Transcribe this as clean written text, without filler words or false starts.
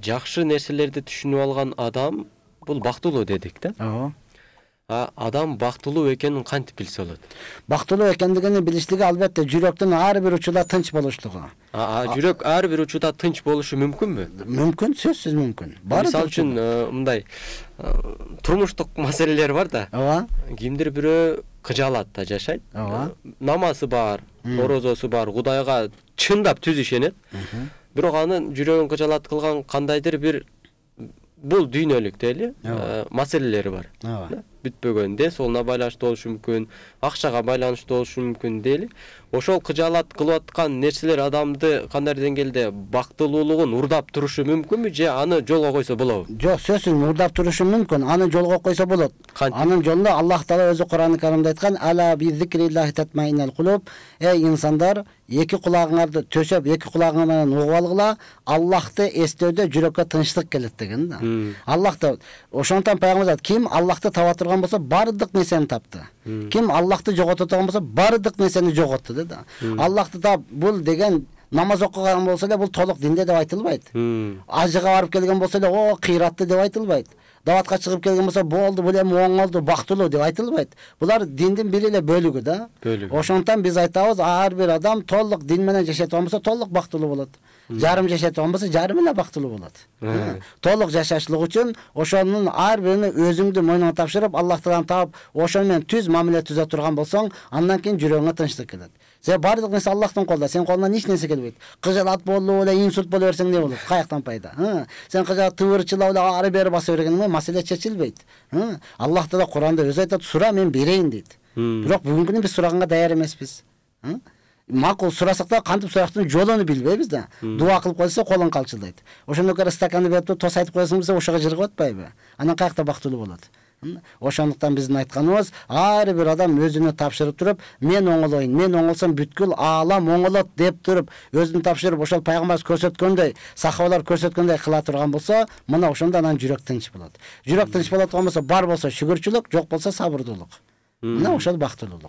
жакшы нерселерди түшүнүп алган адам бул бактылуу дедик да. Ооба. Адам бактылуу экенин кантип билсе болот? Бактылуу экендигин билиштиги албетте жүрөктүн ар бир учурда тынч болуштугу. Жүрөк ар бир учурда тынч болушу мүмкүнбү? Мүмкүн, сөзсүз мүмкүн. Мисалы үчүн мындай турмуштук маселелер бар да. Ооба. Кимдир бирөө кыжаалатта жашайт. Ооба. Намазы бар, орозосу бар, Кудайга чындап түз ишенет. Бирок анын жүрөгүн кыжаалат кылган кандайдыр бир бул дүйнөлүк дейли маселелери бар. Бүтпөгөн ден соолуна байланыштуу болушу мүмкүн, акчага байланыштуу болушу мүмкүн дейли. Ошол кыжаалат кылып аткан нерселер адамды кандайдыр деңгээлде бактылуулугун урдап турушу мүмкүнбү же аны жолго койсо болобу? Жок, сөзсүз урдап турушу мүмкүн. Аны жолго койсо болот. Анын жолунда Аллах Таала өзү Кур'ан-ы Каримде айткан: "Ала би зикриллахи татмаиннал кулуб". Эй инсандар, эки кулагыңарды төшөп, эки кулагың менен угуп алгыла, Аллахты эстөөдө жүрөккө тынчтык келет деген да. Аллах да ошондон пайгамбар айтат: "Ким Аллахты таба турган болсо, бардык нерсени тапты. Ким Аллахты жогото турган болсо, бардык нерсени жоготту" да. Аллахты тап бул деген намаз окуган болсо эле бул толук динде деп айтылбайт. Ажыга барып келген болсо эле о кыйратты деп айтылбайт. Даватка чыгып келген болсо болду, бул эми оңолду, бактылуу деп айтылбайт. Булар диндин бир эле бөлүгү да. Ошондон биз айтабыз, ар бир адам толук дин менен жашай турган болсо толук бактылуу болот. Жарым жашай турган болсо жарым эле бактылуу болот. Толук жашашлык үчүн ошонун ар биrini өзүңдү мойнуңа тапшырып, Аллахтан таап, ошону менен түз мамиле түзө турган болсоң, андан кийин жүрөгүңө тынчтык келет. Сен бардык нерсе Аллахтын колунда, сен колуңдан эч нерсе келбейт. Кыжаалат болуп эле инсульт боло берсең эмне болот? Каяктан пайда? Сен кыжаалат тыбырчылап эле ары бери баса бергениң маселе чечилбейт. Аллах Таала Куранда өзү айтат: "Сура, мен берейин" дейт. Бирок бүгүнкү күнү биз сураганга даяр эмеспиз. Макул сурасак да кантип сурактын жолун билбейбиз да. Дуа кылып койсо колуң калчылдайт. Ошондой кара стаканды берип тос айтып коесуң десе ошого жыргап атпайбы? Анан каякта бактылуу болот? Ошондуктан биздин айтканыбыз, ар бир адам өзүнө тапшырып туруп, мен оңолоюн, мен оңолсом бүткүл аалам оңолот деп туруп, өзүн тапшырып, ошол пайгамбарыбыз көрсөткөндөй, сахабалар көрсөткөндөй кыла турган болсо, мына ошондо анан жүрөк тынч болот. Жүрөк тынч болот болсо, бар болсо шүгүрчүлүк, жок болсо сабырдуулук. Мына ошол бактылуулук.